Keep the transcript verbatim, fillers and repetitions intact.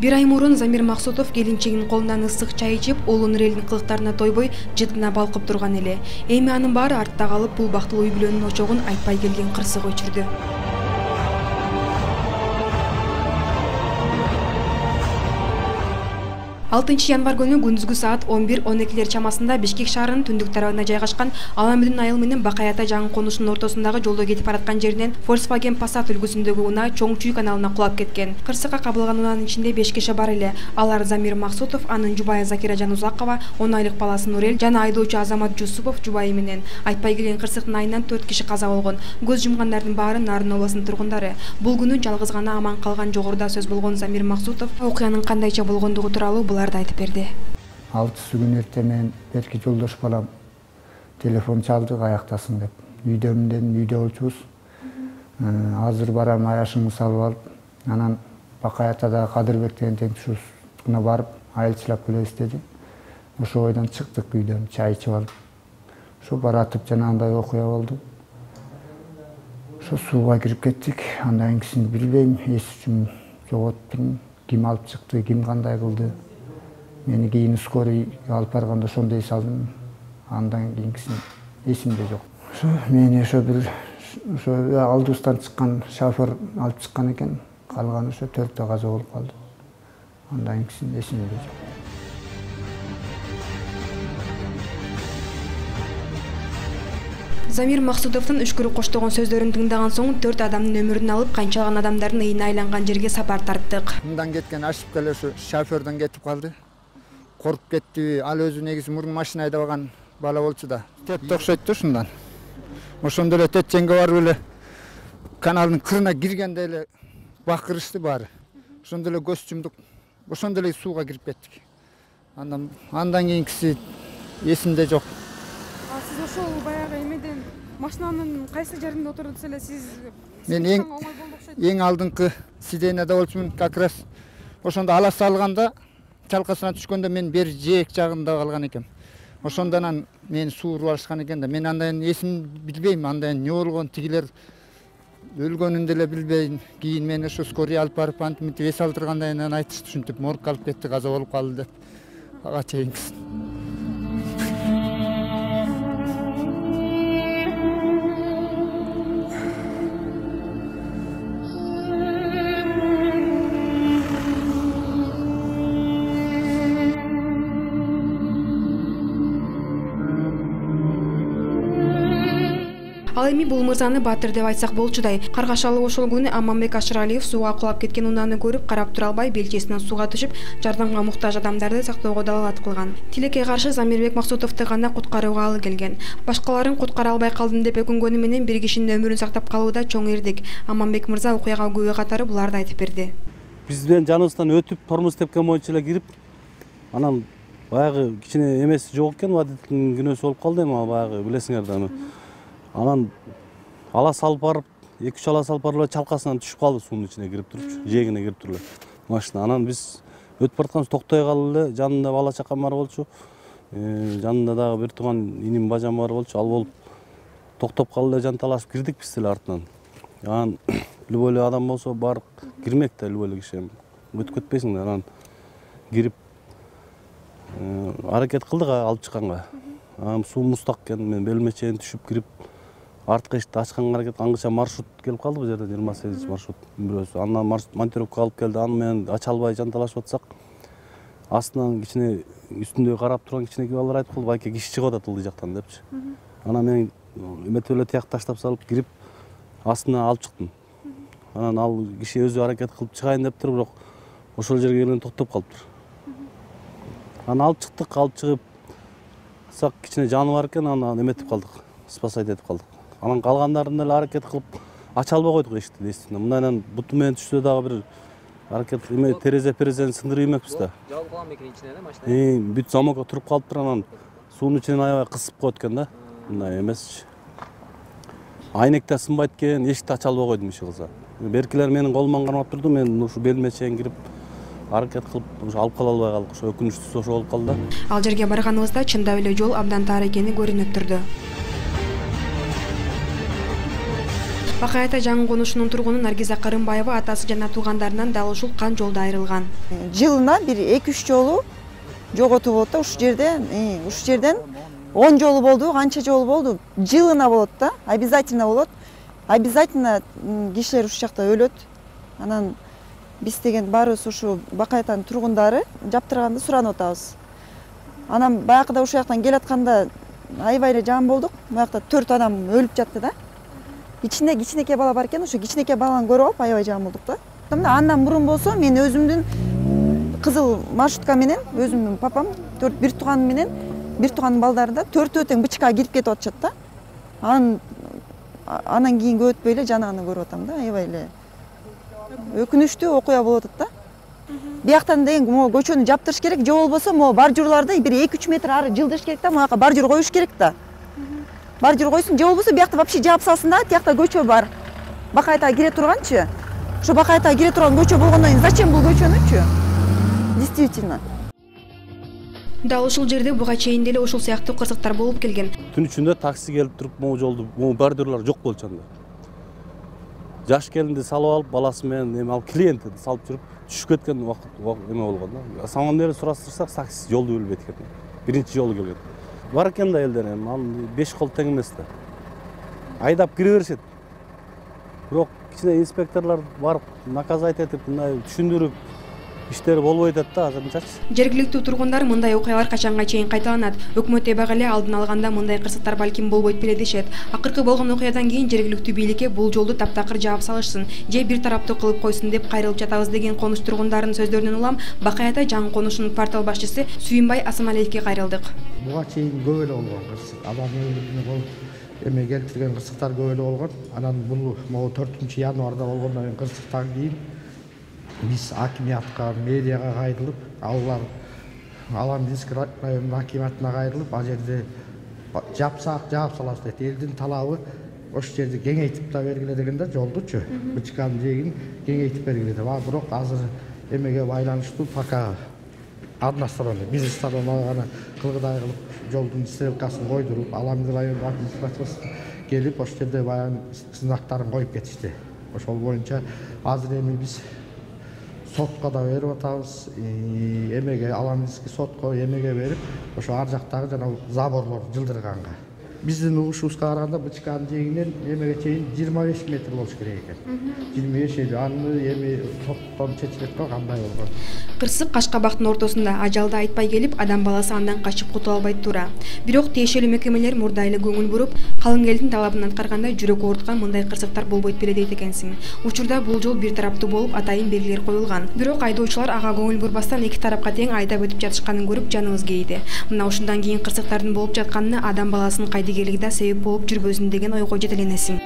Бир ай мурун Замир Максутов келинчегинин колунан ысык чай ичип, улуу Нурелдин кылыктарына тойбой жыт гана балкып турган эле. Эми анын баары артта калып, бул бактылуу үй бүлөнүн очогун айтпай келген кырсык өчүрдү. алтынчы январь күнү күндүзгү саат он бир он экилер чамасында Бишкек шаарынын түндүк тарабына жайгашкан Аламүдүн айыл менен Бакаята жаңы конушунун ортосундагы жолдо кетип бараткан жеринен Volkswagen Passat үлгүсүндөгү унаа Чоң Чүй каналына кулап кеткен. Кырсыкка кабылган унаанын ичинде беш киши бар эле. Алар Замир Максутов, анын жубайы Закира Жанузакова, он айлык баласы Нурел жана айдоочу Азамат Жусупов жубайы менен. Айтпай келген кырсыктын айынан төрт киши каза болгон. Көз жумгандардын баары Нарын областынын тургундары. Бул күнү жалгыз гана аман калган жогоруда сөз болгон Замир Максутов окуянын кандайча болгондугу тууралуу буларды айтып берди. Алтысы күн эрте мен берки жолдош балам телефон чалды, каяктасың деп. Үйдөмүн дедим, үйдө болчубуз. Азыр барам, аяшыңды салып алып, анан Бакаятадагы Кадырбек деген теңтүшүбүз барып, айылчылап келебиз деди. Ошо бойдон чыктык үйдөн, чай ичип алып. Ошо баратып жанагындай окуя болду. Ошо сууга кирип кеттик. Андан кийин билбейм, эс үчүм жоготтум. Ким алып чыкты, ким кандай кылды. Мени кийин скорый алып барганда ошондо эс алдым. Андан кийинкисин эсимде жок. Ошо мени ошо бир ошо алдыбыздан чыккан шофер алып чыккан экен. Калган ошо төртөө каза болуп калды. Андан кийин эсимде жок. Замир Максутовдун үшкүрү коштогон сөздөрүн тыңдаган соң төрт адамдын өмүрүн алып, канчалаган адамдардын ыйына айланган жерге сапар тарттык. Мындан кеткен ашып келе ошо шоферден кетип калды. Коркуп кетти. Ал өзү негизи мурун машина айдабаган бала болчу да. Тетте окшойт да ушундан. Ошондо эле тетченге барып эле каналдын кырына киргенде эле бакырышты баары. Ошондо эле көз жумдук. Ошондо эле сууга кирип кеттик. Андан андан кийинкиси эсимде жок. А сиз ошол баягы эмеден машинанын кайсы жеринде отурдуңуз эле сиз? Мен эң эң алдыңкы сиденияда болчумун, как раз ошондо ала салганда чалкасына түшкөндө мен бер жээк жагында калган экем. Ошондон мени сууруп алышкан экен да. Мен андан эсин билбейм, андан эмне болгон, тигилер өлгөнүн деле билбейм. Кийин мени ошо скорый алып барып антип мынтип эс алдыргандан кийин айтышты, ушинтип моргко алып кетти, каза болуп калды деп. Ага чейинкисин. Ал эми бул мырзаны баатыр деп айтсак болчудай. Каргашалы ошол күнү Аманбек Ашыралиев сууга кулап кеткен унааны көрүп, карап тура албай, белчесинен сууга түшүп, жардамга муктаж адамдарды сактоого далалат кылган. Тилекке каршы Замирбек Максутовду гана куткарууга алы келген. Башкаларын куткара албай калдым деп өкүнгөнү менен бир кишинин өмүрүн сактап калууда чоң эрдик. Аманбек мырза окуяга күбө катары буларды айтып берди. Биз менен жаныбыздан өтүп, тормоз тепкен боюнча эле кирип, анан баягы кичине эмеси жок экен, водителдин күнөөсү болуп калды эми баягы билесиңер да. Анан ала салып барып, эки үч ала салып барып чалкасынан түшүп калды, суунун ичине кирип турчу, жээгине кирип туруп эле машина. Анан биз өтүп баратканбыз, токтой калды эле, жанында бала чакам бар болчу. Жанында дагы бир тууган иним бажам бар болчу. Ал болуп токтоп калды эле, жанталашып кирдик биз эле артынан. Анан любой эле адам болсо барып кирмек да, любой эле киши. Өтүп кетпейсиң да. Анан кирип аракет кылдык алып чыкканга. Анан суу муздак экен, мен белиме чейин түшүп кирип артқы эшикти ачканга аракет, аңгыча маршрут келип калды бул жерде, жыйырма сегизинчи маршрут бирөөсү. Андан монтировка алып келди, аны менен ача албай жанталашып атсак, астынан кичине үстүндө карап турган кичине балдар айтып калды, байке киши чыгып атат ылдый жактан депчи. Анан мен эметип эле тияк таштап салып кирип, астына алып чыктым. Анан ал киши өзү аракет кылып чыгайын дептир, бирок ошол жерге келген токтоп калыптыр. Анан алып чыктык, алып чыгып сак кичине жаны бар экен, анан эметип калдык, спасать этип калдык. Анан калгандарын эле аракет кылып ача албай койдук эшикти, эстин. Мындайдан буту менен түшсө дагы бир аракет эме терезе-перезени сындырып иймекпиз да. Жабылып калган бекен ичине эле машина. Бүт замокко туруп калыптыр, анан суунун ичинен аябай кысып коет экен да. Мындай эмесчи. Айнек да сынбайт экен, эшикти ача албай койдум иши кылса. Беркилер менин колуман кармап турду, мен ушу белиме чейин кирип аракет кылып ушу алып кала албай калдык. Ошо өкүнүчтүүсү ошо болуп калды. Ал жерге барганыбызда чындап эле жол абдан тар экени көрүнүп турду. Бакай Ата жаңы конушунун тургуну Наргиза Кырымбаева атасы жана туугандарынан дал ушул кан жолдо айрылган. Жылына бир эки үч жолу жоготуу болот да, ушул жерде, ушул жерден он жолу болду, канча жолу болду. Жылына болот да, обязательно болот. Обязательно кишилер ушул жакта өлөт. Анан биз деген баарыбыз ушу Бакай Атанын тургундары жаптырганды суранып атабыз. Анан баягыда ушул жактан келатканда аябай эле жам болдук. Буякта төрт адам өлүп жатты да. Ичинде кичинекей бала бар экен, ошо кичинекей баланы көрүп алып аябай жам болдук да. Андан мурун болсо мен өзүмдүн кызыл маршрутка менен, өзүмдүн папам, төрт бир тууганым менен, бир тууганын балдары да төртөө тең БЧКга кирип кетип атышат да. Анан анан кийинки өтпөй эле жанаганы көрүп атам да, аябай эле өкүнүчтүү окуя болуп атат да. Бияктан деген могу көчөнү жаптырыш керек, же болбосо могу бар журларды бир эки үч метр ары жылдырыш керек да, могу бар жур коюш керек да. Бар жур койсун, же болбосо биякта вообще жаап салсын да, тиякта көчө бар. Бакай Атага кире турганчы. Ошо Бакай Атага кире турган көчө болгондон кийин зачем бул көчөнүчү? Действительно. Дал ушул жерде буга чейин деле ушул сыяктуу кырсыктар болуп келген. Түн ичинде такси келип туруп могу жолду, могу бордюрлар жок болчу анда. Жаш келинди салып алып, баласы менен эме алып клиентти салып жүрүп түшүп кеткен убакыт эме болгон да. Саман деле сураштырсак, таксист жолду билбейт экен. Биринчи жолу келген. Бар экен да элдер, анын беш кол тең эмес да. Айдап кире беришет. Бирок кичине инспекторлор барып наказать этип, мындай түшүндүрүп иштери болбой атат да азырынчачы. Жергиликтүү тургундар мындай окуялар качанга чейин кайталанат? Өкмөт эбак эле алдын алганда мындай кырсыктар балким болбойт беле дешет. Акыркы болгон окуядан кийин жергиликтүү бийликке бул жолду таптакыр жаап салышсын, же бир тараптуу кылып койсун деп кайрылып жатабыз деген конуш тургундарынын сөздөрүнөн улам Бакай Ата жаңы конушунун портал башчысы Сүйүнбай Асамалиевке кайрылдык. Буга чейин көп эле болгон кырсык, адам өлүмүнө болуп эме келтирген кырсыктар көп эле болгон. Анан бул могу төртүнчү январда болгондон кийин кырсыктан кийин биз акимиятка, медиага кайрылып, алар Аламдинск районунун акимиятына кайрылып, ал жерде жапсак жаап салабыз дейт. Элдин талабы ошол жерди кеңейтип да бергиле деген да, жолдучу. БЧКнын жээгин кеңейтип бергиле деп. А бирок азыр эмеге байланыштуу пока односторонний бизнес тарабына кылгыдай кылып жолдун стрелкасын койдуруп, Аламдин районунун администрациясы келип ошол жерде баягы знактарын коюп кетишти. Ошол боюнча азыр эми биз сотко да берип атабыз, эмеге Аламдинский сотко эмеге берип, ошо ар жактагы жана заборлор жылдырганга. Биздин угушубузга караганда БЧКнын жээгинен эмеге чейин жыйырма беш метр болуш керек экен. жыйырма беш аны эми соттон чечилет го кандай болгон. Кырсык Кашкабактын ортосунда ажалды айтпай келип, адам баласы андан качып кутула албайт туура. Бирок тиешелүү мекемелер мурда эле көңүл буруп, калың элдин талабын аткарганда жүрөк ооруткан мындай кырсыктар болбойт беле дейт экенсиң. Учурда бул жол бир тараптуу болуп, атайын белгилер коюлган. Бирок айдоочулар ага көңүл бурбастан эки тарапка тең айдап өтүп жатышканын көрүп жаныбыз кейди. Мына ушундан кийин кырсыктардын болуп жатканына адам баласынын кайдыгерлиги да себеп болуп жүрбөсүн деген ойго жетеленесиң.